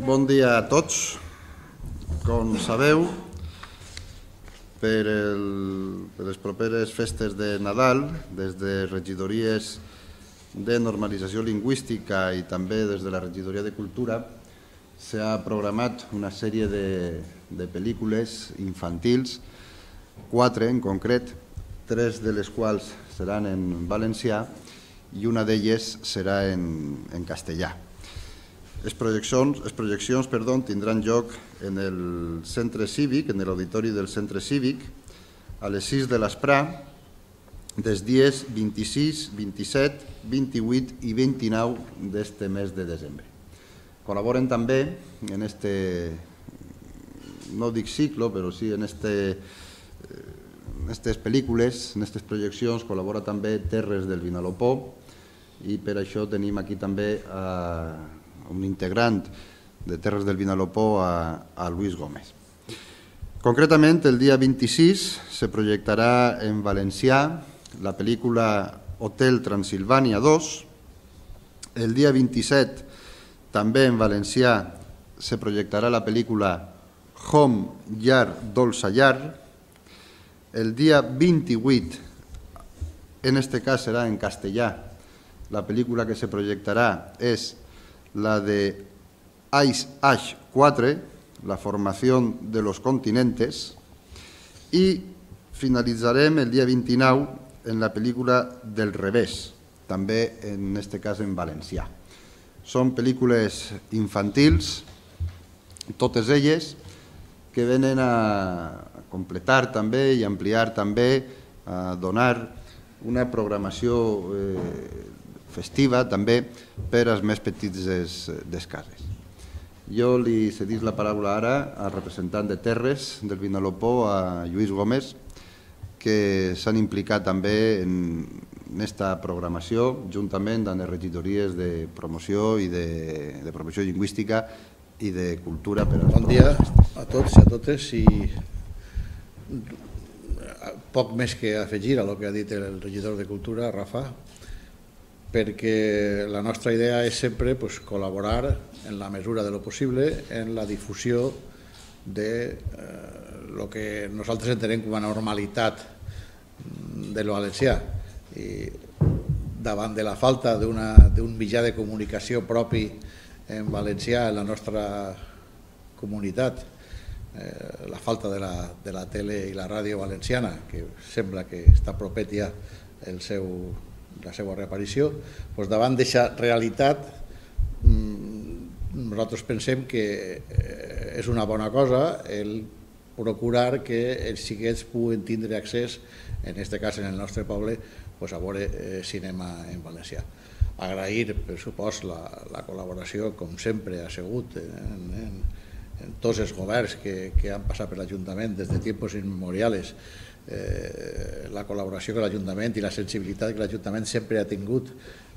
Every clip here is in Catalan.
Bon dia a tots. Com sabeu, per les properes festes de Nadal, des de regidories de normalització lingüística i també des de la regidoria de Cultura, s'ha programat una sèrie de pel·lícules infantils, 4 en concret, 3 de les quals seran en valencià i una d'elles serà en castellà. Les projeccions tindran lloc en el centre cívic, en l'auditori del centre cívic, a les 6 de l'esprà, dels dies 26, 27, 28 i 29 d'este mes de desembre. Col·laboren també en este, no dic cicle, però sí en aquestes pel·lícules, en aquestes projeccions, col·labora també Terres del Vinalopó i per això tenim aquí també un integrant de Terres del Vinalopó, a Luis Gómez. Concretament, el dia 26 se projectarà en valencià la pel·lícula Hotel Transilvània 2. El dia 27, també en valencià, se projectarà la pel·lícula Home, Llar, Dolça Llar. El dia 28, en este cas serà en castellà, la pel·lícula que se projectarà és la de Ice Age 4, la formación de los continentes, y finalitzarem el dia 29 en la pel·lícula del revés, també en este cas en valencià. Són pel·lícules infantils, totes elles, que venen a completar també i ampliar també, a donar una programació festiva també per als més petits des cases. Jo li cedís la paraula ara al representant de Terres del Vinalopó, a Lluís Gómez, que s'han implicat també en aquesta programació juntament amb les regidories de promoció i de promoció lingüística i de cultura. Bon dia a tots i a totes, i poc més que afegir a el que ha dit el regidor de Cultura, Rafa, perquè la nostra idea és sempre col·laborar en la mesura de lo possible en la difusió de lo que nosaltres entenem com a normalitat de lo valencià. I davant de la falta d'un mitjà de comunicació propi en valencià en la nostra comunitat, la falta de la tele i la ràdio valenciana, que sembla que està propet ja la seva reaparició, davant d'aquesta realitat nosaltres pensem que és una bona cosa el procurar que els xiquets puguen tindre accés, en aquest cas en el nostre poble, a veure cinema en valencià. Agrair, per supost, la col·laboració, com sempre ha sigut en tots els governs que han passat per l'Ajuntament des de tiempos immemoriales, la col·laboració que l'Ajuntament i la sensibilitat que l'Ajuntament sempre ha tingut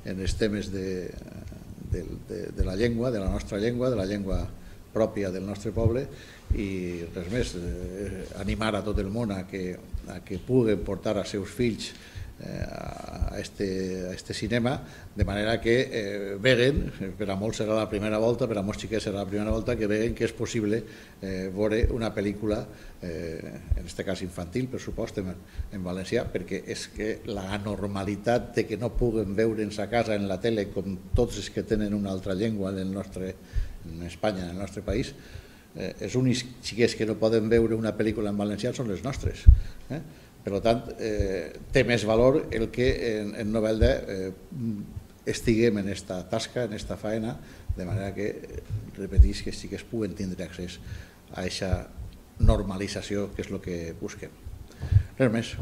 en els temes de la llengua, de la nostra llengua, de la llengua pròpia del nostre poble, i res més, animar a tot el món a que puguen portar als seus fills a este cinema, de manera que veguen, per a molts serà la primera volta, per a molts xiquets serà la primera volta, que veguen que és possible veure una pel·lícula, en aquest cas infantil, per supost, en valencià, perquè és que la normalitat de que no puguen veure'ns a casa en la tele com tots els que tenen una altra llengua en Espanya, en el nostre país, els únics xiquets que no poden veure una pel·lícula en valencià són les nostres. Per tant, té més valor el que en Novelda estiguem en aquesta tasca, en aquesta faena, de manera que, repetís, que sí que es puguen tindre accés a aquesta normalització, que és el que busquem. Res més.